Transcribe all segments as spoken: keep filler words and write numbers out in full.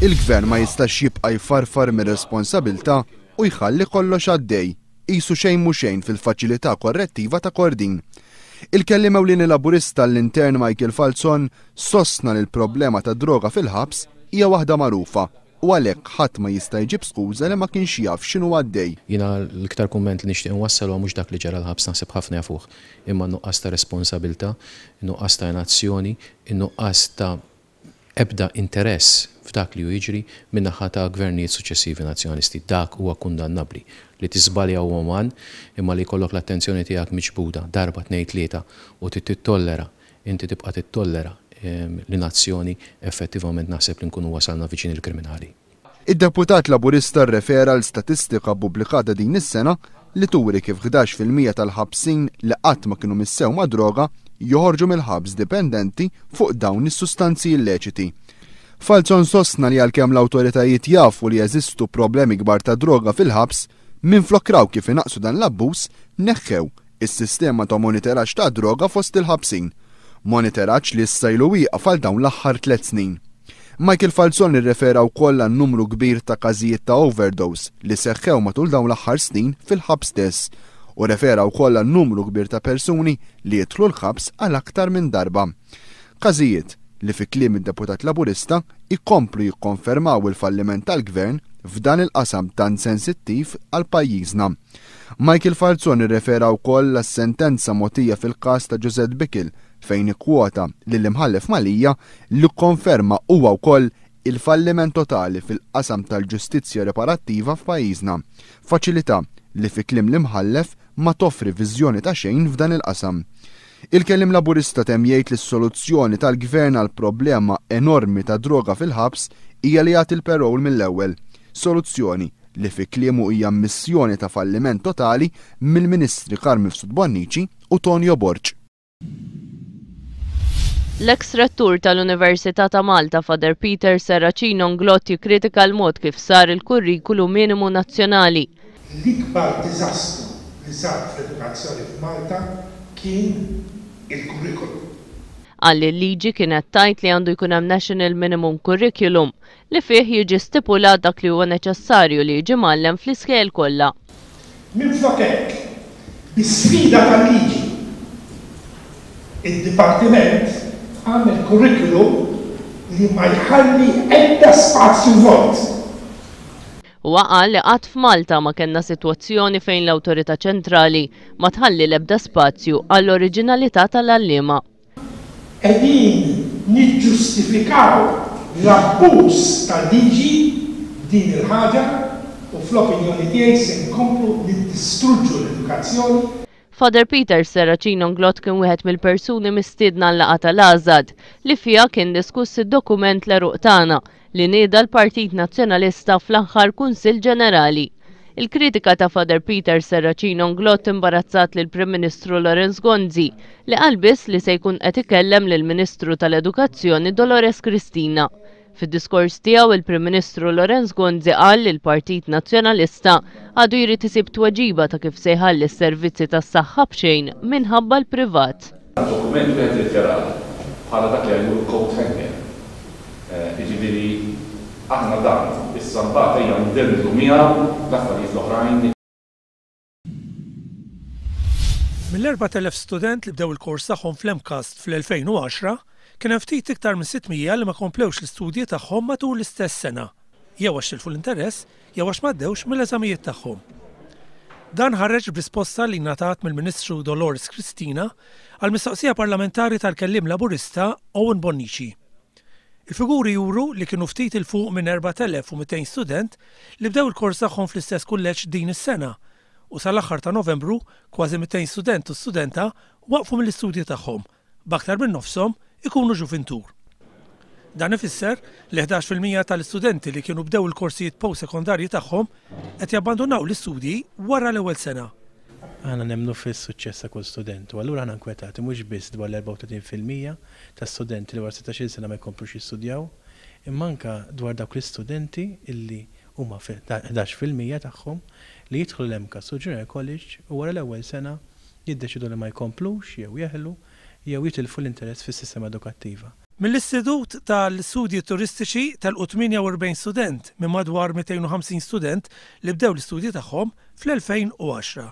Il-gvern ma jistax jibqa' jfarfar mir-responsabilità u jħalli kollox għaddej, qisu xejn mhu xejn fil-faċilità korrettiva ta' Kordin. Il-kelliem ewlieni Laburista l-intern Michael Falzon sostna li l-problema ta' droga fil-ħabs hija waħda magħrufa u għalhekk ħadd ma jista' jġib skuża li ma kienx jaf x'inhu għaddej. Jiena l-iktar kumment li nixtieq inwassal huwa mhux dak li ġara l-ħabs, naħseb ħafna jafuh, imma nuqqas ta' responsabilità, nuqqas ta' inazzjoni, nuqqas ta' ebda interess f'dak li hu jiġri min-naħa ta' gvernijiet suċċessivi nazzjonalisti. Dak huwa kundannabbli. Li tiżbalja huwa uman, imma li jkollok l-attenzjoni tiegħek miġbuda darba, tnejn, tlieta u tittollera, inti tibqa' tittollera l-inazzjoni, effettivament naħseb li nkunu wasalna viċin il-kriminali. Id-deputat Laburista rrefera l statistika pubblikata din is-sena li turi kif ħdax fil-mija tal-ħabsin li qatt ma kienu missew ma' droga joħorġu mill-ħabs dipendenti fuq dawn is-sustanzi illeċiti. Falzon sostna li għalkemm l-awtoritajiet jafu li jeżistu problemi kbar ta' droga fil-ħabs, minflok raw kif inaqsu dan l-abbuż, neħħew is-sistema ta' monitoraġġ ta' droga fost il-ħabsin. Monitoraġġ li issa ilu wieqaf għal dawn l-aħħar tliet snin. Michael Falzon irrefera wkoll għan numru kbir ta' każijiet ta' overdose li seħħew matul dawn l-aħħar snin fil-ħabs stess u refera wkoll għan numru kbir ta' persuni li jidħlu l-ħabs għal aktar minn darba. Każijiet li fi kliem id-deputat Laburista ikomplu jikkonfermaw il-falliment tal-gvern f'dan il-qasam tant sensittiv għal pajjiżna. Michael Falzon irrefera wkoll għas-sentenza mogħtija fil-każ ta' Josette Bickel fejn ikkwota lill-imħallef Mallia li kkonferma huwa wkoll il-falliment totali fil-qasam tal-ġustizzja riparattiva f'pajjiżna. Faċilità li fi kliem l-imħallef ma toffri viżjoni ta' xejn f'dan il-qasam. Il-kelliem Laburista temm jgħid li s-soluzzjoni tal-gvern għal problema enormi ta' droga fil-ħabs hija li jagħti l-parole mill-ewwel. Soluzzjoni li fi kliemu hija missjoni ta' falliment totali mill-Ministri Carm Mifsud Bonnici u Tonio Borg. L-eks rettur tal-Università ta' Malta, Father Peter Serracino Inglott, jikkritika l-mod kif sar il-kurrikulu minimu nazzjonali. L-ikbar diżastru li sar fl-edukazzjoni f'Malta kien il-kurrikulum. Qal li l-liġi kienet tajt li għandu jkun hemm National Minimum Curriculum li fih jiġi stipulat dak li huwa neċessarju li jiġi mgħallem fl-iskejjel kollha. Minflok hekk, bi sfida tal-liġi, id-dipartiment għamel curriculum li ma jħalli ebda spazju vojt. Huwa qal li qatt f'Malta ma kellna sitwazzjoni fejn l-awtorità ċentrali ma tħalli l-ebda spazju għall-oriġinalità tal-għalliema. Qegħdin niġġustifikaw l-abbuż tal-liġi b'din il-ħaġa u fl-opinjoni tiegħi se nkomplu niddistruġġu l-edukazzjoni. Father Peter Serracino Inglott kien wieħed mill-persuni mistiedna għal-laqgħa tal-Għażad li fiha kien diskuss id-dokument l-għeruq tagħna li nieda l-Partit Nazzjonalista fl-aħħar Kunsill Ġenerali. Il-kritika ta' Father Peter Serracino Inglott imbarazzat lill Prim Ministru Lawrence Gonzi li qal biss li se jkun qed ikellem lill-Ministru tal-Edukazzjoni Dolores Cristina. Fid-diskors tiegħu il-Prim Ministru Lawrence Gonzi qal li l-Partit Nazzjonalista għadu jrid isib tweġiba ta' kif se jħalli s-servizzi tas-saħħa b'xejn minħabba l-privat. Dokument wieħed irid jarah bħala dak li jgħidu coat hanger. Jiġifieri aħna dan issa mbagħad ejja ndendlu miegħu l-affarijiet l-oħrajn. Mill-erbat elef student li bdew il-kors tagħhom fl-MCAST fl-elfejn u għaxra, kien hemm ftit iktar minn sitt mija li ma komplewx l-istudji tagħhom matul l-istess sena, jew għax tilfu l-interess, jew għax m'għaddewx mill-eżamijiet tagħhom. Dan ħareġ b'risposta li ngħatat mill-Ministru Dolores Cristina għal mistoqsija parlamentari tal-kelliem Laburista Owen Bonnici. Il-figuri juru li kienu ftit il fuq minn erbat elef u mitejn student li bdew il-kors tagħhom fl-istess kulleġġ din is-sena u sal-aħħar ta' Novembru kważi mitejn student u studenta waqfu mill-istudji tagħhom, b'aktar minn nofshom ikunu ġuvintur. Dan ifisser li ħdax fil-mija tal-istudenti li kienu bdew il-korsijiet post-sekondarji tagħhom qed jabbandunaw l-istudji wara l-ewwel sena. Aħna nemmnu fis-suċċess ta' kull student u allura aħna nkwetati mhux biss dwar l-erbgħa u tletin fil-mija ta' studenti li wara sittax-il sena ma jkomplux jistudjaw, imma anke dwar dawk l-istudenti illi huma ħdax fil-mija tagħhom li jidħlu l-MCAST u Junior College u wara l-ewwel sena jiddeċidu li ma jkomplux jew jeħlu jew jitilfu l-interess fis-sistema edukattiva. Mill-Istitut tal-Studji Turistiċi telqu tmienja u erbgħin student minn madwar mitejn u ħamsin student li bdew l-istudji tagħhom fl-elfejn u għaxra.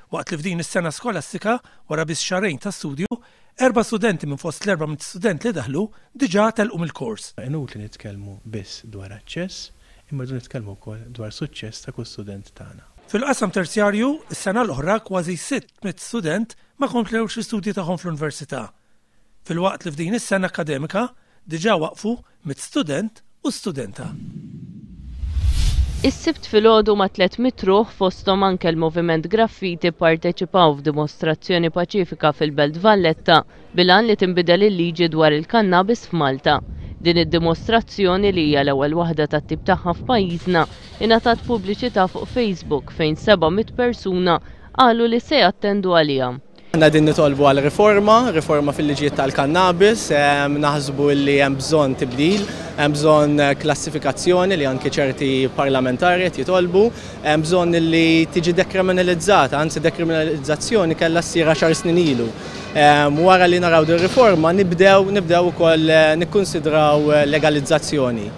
Waqt li f'din is-sena skolastika, wara biss xahrejn ta' studju, erba' studenti minn fost l-erba' mitt student li daħlu diġà telqu mill-kors. Inutli nitkellmu biss dwar aċċess, imma rridu nitkellmu wkoll dwar suċċess ta' kull student tagħna. Fil-qasam terzjarju, is-sena l-oħra kważi sitt mitt student ma komplewx l-istudji tagħhom fl-università. Filwaqt li f'din is-sena akademika diġà waqfu mitt student u studenta. Is-Sibt filgħodu ma' tliet mitt ruħ, fosthom anke l-Moviment Graffiti, parteċipaw f'dimostrazzjoni paċifika fil-Belt Valletta bil-għan li tinbidel il-liġi dwar il-kannabis f'Malta. Din id-dimostrazzjoni, li hija l-ewwel waħda tat-tip tagħha f'pajjiżna, ingħatat pubbliċità fuq Facebook fejn seba' mitt persuna qalu li se jattendu għaliha. Aħna qegħdin nitolbu għal riforma, riforma fil-liġijiet tal-kannabis, naħsbu li hemm bżonn tibdil, hemm bżonn klassifikazzjoni li anke ċerti parlamentari qed jitolbu, hemm bżonn li tiġi dekriminalizzata, anzi dekriminalizzazzjoni kellha ssir għaxar snin ilu. Wara li naraw din riforma nibdew nibdew ukoll nikkonsidraw legalizzazzjoni.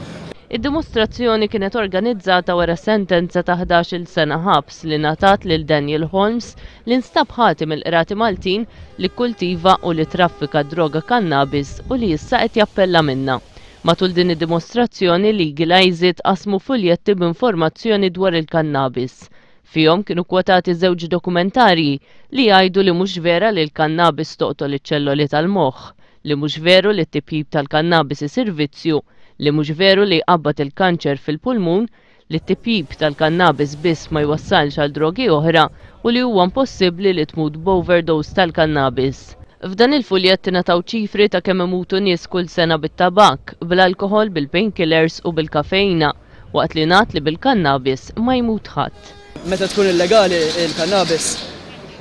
Id-dimostrazzjoni kienet organizzata wara sentenza ta' ħdax-il sena ħabs li ngħatat lil Daniel Holmes, li nstab ħati mill-qrati Maltin li kultiva u li traffika droga kannabis u li issa qed jappella minnha. Matul din id-dimostrazzjoni Legalize It qasmu fuljetti b'informazzjoni dwar il-kannabis. Fihom kienu kwotati żewġ dokumentarji li jgħidu li mhux vera li l-kannabis toqtol iċ-ċelloli tal-moħħ, li mhux veru li t-tipjib tal-kannabis isir vizzju, li mhux veru li jqabbad il-kanċer fil-pulmun, li t-tipjib tal-kannabis biss ma jwassalx għal drogi oħra u li huwa impossibbli li tmut b'overdose tal-kannabis. F'dan il-fuljett ingħataw ċifri ta' kemm imutu nies kull sena bit-tabak, bl-alkoħol, bil-painkillers u bil-kafeina, waqt li ngħad li bil-kannabis ma jmut ħadd. Meta tkun illegali il-kannabis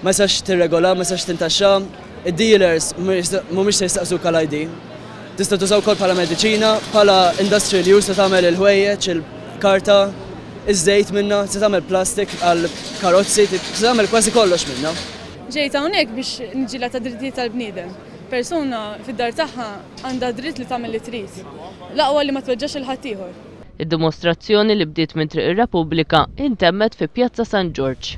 ma jistax tirregola, ma jistax tintaxxa, id-dealers mhumiex se jistaqsuk għal I D. Tista' tużaw ukoll bħala mediċina, bħala industrial use, se tagħmel il-ħwejjeġ, il-karta, iż-żejt minnha, se tagħmel plastik għal karozzi, se tagħmel kważi kollox minnha. Ġejt hawnhekk biex niġġieled għad-drittijiet tal-bniedem. Persuna fid-dar tagħha għandha dritt li tagħmel li trid. L-aqwa li ma tweġġax lil ħaddieħor. Id-dimostrazzjoni, li bdiet minn Triq ir-Repubblika, intemmet fi Pjazza San Ġorġ.